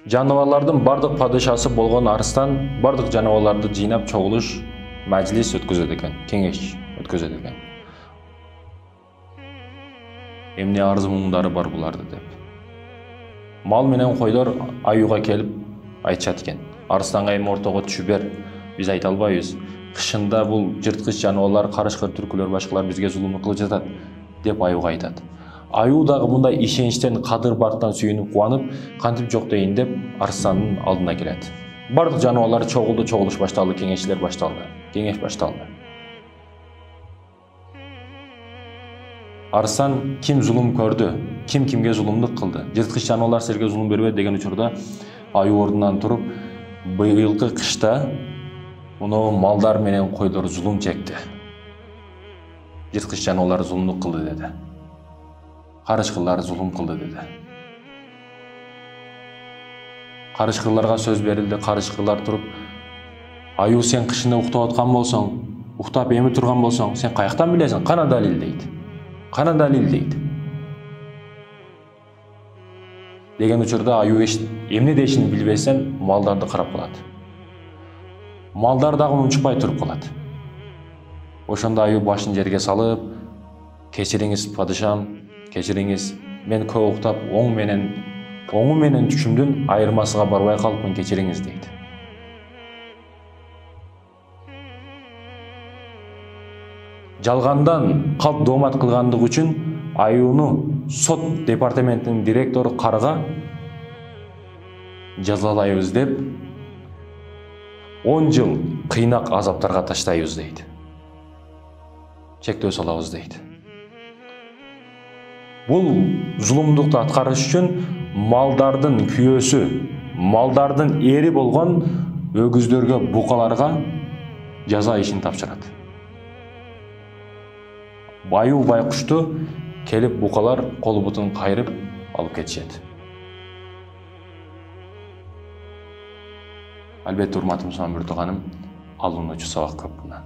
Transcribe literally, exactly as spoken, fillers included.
Жаныбарлардын бардык падышасы болгон Арыстан бардык жаныбарларды жыйнап чогулуш мажлис өткөзөт экен, кеңеш өткөзөт экен. Эмне арыз муңдары бар буларды деп. Мал менен койлор аюуга келип айтышат экен. Арыстанга эми ортого түшүп бер, биз айта албайбыз. Кышында бул жырткыч жаныбарлар, карышкыр түркүлөр, башкалар бизге зулум кылып жатат деп аюуга айтат. Аюу дагы мындай ишеничтен, кадыр бартан сүйүнүп кубанып, кантип жок дейин деп Арыстандын алдына келет. Бардык жаныбарлар чогулду, чогулуш башталды, кеңешчилер башталды. Кеңеш башталды. Арыстан ким зулум көрдү, ким кимге зулумдук кылды, жырткыч жаныбарлар силерге зулум бербейт деген учурда аюу ордунан туруп, быйылкы кышта муну малдар менен койлор зулум чекти. Жырткыч жаныбарлар зулумдук кылды деди. Карышкырлар зулум кылды деди. Карышкырларга сөз берилди, карышкырлар туруп, аюу сен кышында уктап аткан болсоң, уктап эми турган болсоң, сен каяктан билесиң? Кана далил дейт. Кана далил дейт. Деген учурда аюу эмне дешин билбесен, малдарды карап калат. Малдар дагы унчукпай туруп калат. Ошондо аюу башын жерге салып, кечириңиз падышам, кечириңиз, мен көп уктап, оң менен оңу менен түшүмдүн айырмасыга барбай калыпмын, кечириңиз дейт. Жалгандан калп доомат кылгандыгы үчүн аюуну сот департаментинин директору Карга жазалайбыз деп он жыл кыйнак азаптарга таштайбыз дейт. Чектөө салабыз дейт. Бул зулумдукту аткарыш үчүн малдардын күйөөсү, малдардын эри болгон өгүздөргө, букаларга жаза ишин тапшырат. Аюу байкушту келип букалар кол бутун кайрып алып кетишет. Албетте урматтуу мусулман биртуганым, алынуучу сабак көп мына.